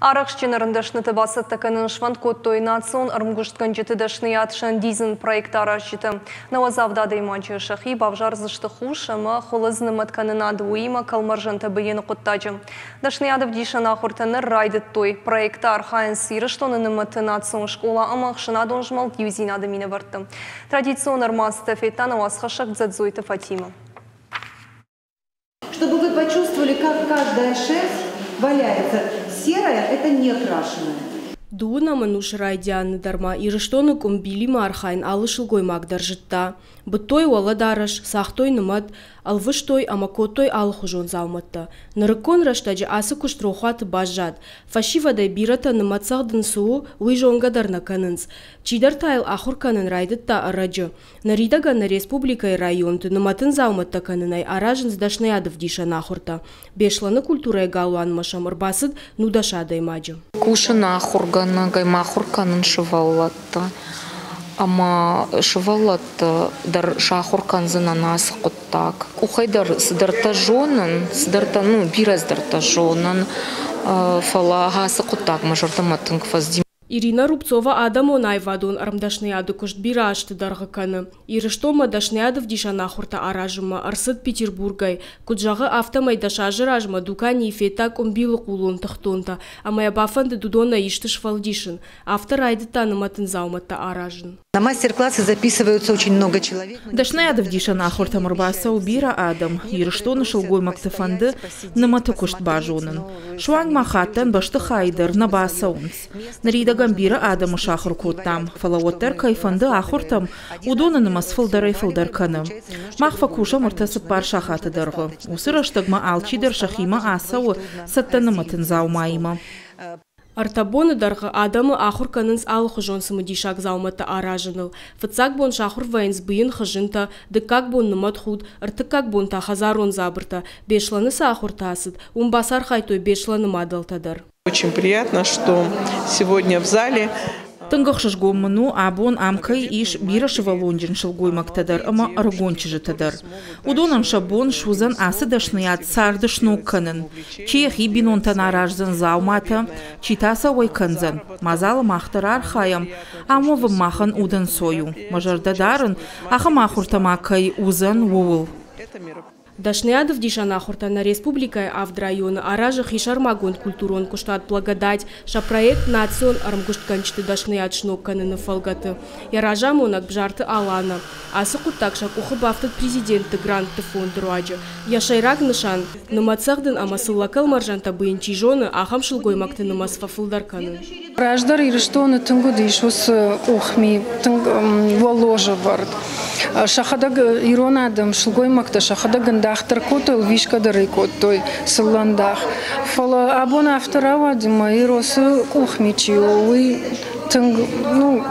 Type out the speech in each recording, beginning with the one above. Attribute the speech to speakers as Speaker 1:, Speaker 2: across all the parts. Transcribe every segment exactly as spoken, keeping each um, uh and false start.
Speaker 1: Арӕхстджын ӕрмдӕсныты бацӕттӕ кӕнын сфӕнд кодтой национ ӕрмгуыстгӕнджыты дӕсныйад сӕндидзын проект аразджытӕ. Нӕуӕдз авд адӕймаджы сӕхи бавзардзысты хус ӕмӕ хуылыдз нымӕткӕнынад, уыимӕ кӕлмӕрзӕнтӕ быйыны хъуыддаджы. Дӕсныйад ӕвдисӕн ахуыртӕ ныр райдыдтой. Проекты архайынц Ирыстоны нымӕты национ скъола ӕмӕ ӕхсӕнадон змӕлд Иудзинад-ы минӕвӕрттӕ. Традицион ӕрмадзтӕ федта нӕ уацхӕссӕг Дзӕдзойты Фатимӕ.
Speaker 2: Чтобы вы почувствовали, как каждая шерсть валяется. Серая – это не крашеная.
Speaker 3: Дыууынӕм ӕнусы райдианы дӕр ма Ирыстоны къуымбилимӕ архайын алы сылгоймаг дӕр зыдта. Быдтой уӕлӕдарӕс, цагътой нымӕт, ӕлвыстой ӕмӕ кодтой алыхуызон дзаумӕттӕ. Нырыккон рӕстӕджы ацы куыст рохуаты баззад. Фӕсивӕдӕй бирӕтӕ нымӕтцӕгъдын цы у, уый зонгӕ дӕр нӕ кӕнынц. Чидӕр та йыл ахуыр кӕнын райдыдта ӕрӕджы. Ныридӕгӕн нӕ республикӕйы районты нымӕтын дзаумӕттӕ кӕнынӕй аразынц дӕсныйадӕвдисӕн ахуыртӕ. Беслӕны культурӕйы галуанмӕ сӕм ӕрбацыд нудӕс адӕймаджы.
Speaker 4: Кусын ахуыргӕнӕгӕй, ма ахуыр кӕнын сывӕллӕтты. Ӕмӕ сывӕллӕтты дӕр сахуыр кӕндзынӕн ацы хъуыддаг. Къухӕй дӕр цыдӕртӕ зонын, цыдӕртӕ, ну, бирӕ цыдӕртӕ зонын, фӕлӕ ацы хъуыддаг мӕ зӕрдӕмӕ тынг фӕцыди.
Speaker 3: Ирина Рубцова адӕмон аивадон ӕрмдӕсныйады куыст бирӕ азты дӕргъы кӕны. Ирыстонмӕ дӕсныйадӕвдисӕн ахуыртӕ аразынмӕ ӕрцыд Петербургӕй. Куыд зӕгъы, афтӕмӕй дӕс азы размӕ дуканийы федта къуымбилы хъулон тыхтонтӕ ӕмӕ йӕ бафӕндыд уыдонӕй исты сфӕлдисын. Афтӕ райдыдта нымӕтын дзаумӕттӕ аразын.
Speaker 2: На мастер-классы записываются очень много человек.
Speaker 5: Дӕсныйадӕвдисӕн ахуыртӕм ӕрбацӕуы бирӕ адӕм. Ирыстоны сылгоймӕгты фӕнды нымӕты куыст базонын. Суанг ма хаттӕн бӕстыхайы дӕр нӕ бацӕуынц. Ныридӕгӕн бирӕ адӕмы сахуыр кодтам, фӕлӕ уӕддӕр кӕй фӕнды ахуыртӕм, уыдоны нымӕц фылдӕрӕй-фылдӕр кӕны. Мах фӕкусӕм ӕртӕ-цыппар сахаты дӕргъы. Уыцы рӕстӕгмӕ алчидӕр сӕхимӕ ацӕуы цӕттӕ нымӕтын дзаумаимӕ.
Speaker 3: Ӕртӕ боны дӕргъы адӕмы ахуыр кӕнынц алыхуызон цымыдисаг дзаумӕттӕ аразыныл. Фыццаг бон сахуыр вӕййынц быйын хызынтӕ, дыккаг бон нымӕтхуд, ӕртыккаг бон та хӕдзарон дзабыртӕ. Беслӕны цы ахуыртӕ ацыд, уым бацархайдтой Беслӕны мадӕлтӕ дӕр.
Speaker 6: Очень приятно, что сегодня в зале
Speaker 5: Тынг ӕхсызгон мын у, абон ам кӕй ис бирӕ сывӕллонджын сылгоймӕгтӕ дӕр ӕмӕ ӕрыгон чызджытӕ дӕр. Уыдонӕн сӕ бон суыдзӕн ацы дӕсныйад царды сног кӕнын. Чи йӕхи бинонтӕн араздзӕн дзауматӕ, чи та сӕ уӕй кӕндзӕн. Мадзалы мах дӕр архайӕм, ам уӕвын махӕн удӕнцой у. Мӕ зӕрдӕ дарын, ахӕм ахуыртӕ ма кӕй уыдзӕн, ууыл.
Speaker 3: Дӕсныйадӕвдисӕн ахуыртӕ нӕ республикӕйы авд районы аразы хисӕрмагонд культурон куыстуат «Благодать» сӕ проект национ ӕрмгуыстгӕнджыты дӕсныйад сног кӕныны фӕлгӕты. Йӕ разамонӕг Бзарты Алана. Ацы хъуыддаг сӕ къухы бафтыд президенты грантты фонды руаджы. Йӕ сӕйраг нысан – нымӕтцӕгъдын ӕмӕ цыллӕ кӕлмӕрзӕнтӕ быйын чи зоны, ахӕм сылгоймӕгты нымӕц фӕфылдӕр кӕнын.
Speaker 7: Раздӕр Ирыстоны тынг уыдис уыцы къухми, тынг уӕллозы вӕрд. Сӕхӕдӕг ирон адӕм, сылгоймӕгтӕ сӕхӕдӕг ӕндах дӕр кодтой, ӕлвисгӕ дӕр ӕй кодтой, цыллӕндах. Фӕлӕ абон афтӕ рауад, ӕмӕ Иросы къухми чи у, уый тынг, ну,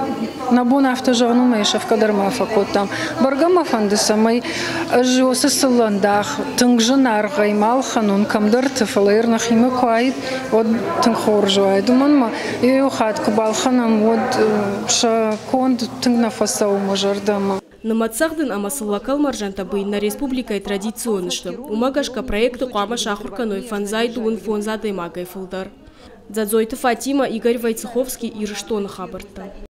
Speaker 7: нӕ бон афтӕ зӕгъын у, ӕмӕ сӕфгӕ дӕр ма фӕкодтам. Бӕргӕ мӕ фӕнды, цӕмӕй ӕз уыцы цыллӕндах тынг зынаргъӕй ма ӕлхӕнон кӕмдӕрты, фӕлӕ йыр нӕхимӕ куы уаид, уӕд тынг хорз уаид. Уымӕн ӕмӕ иу хатт куы балхӕнӕм, уӕд сӕ конд тынг нӕ фӕцӕуы мӕ зӕрдӕмӕ.
Speaker 3: Нымӕтцӕгъдын ӕмӕ цыллӕ кӕлмӕрзӕнтӕ быйын нӕ республикӕйы традицион сты. Уымӕ гӕсгӕ проекты хъуамӕ сахуыр кӕной фӕндзай дыууын фондз адӕймагӕй фылдӕр. Дзӕдзойты Фатимӕ, Игорь Войцеховский, Ирыстоны хабӕрттӕ.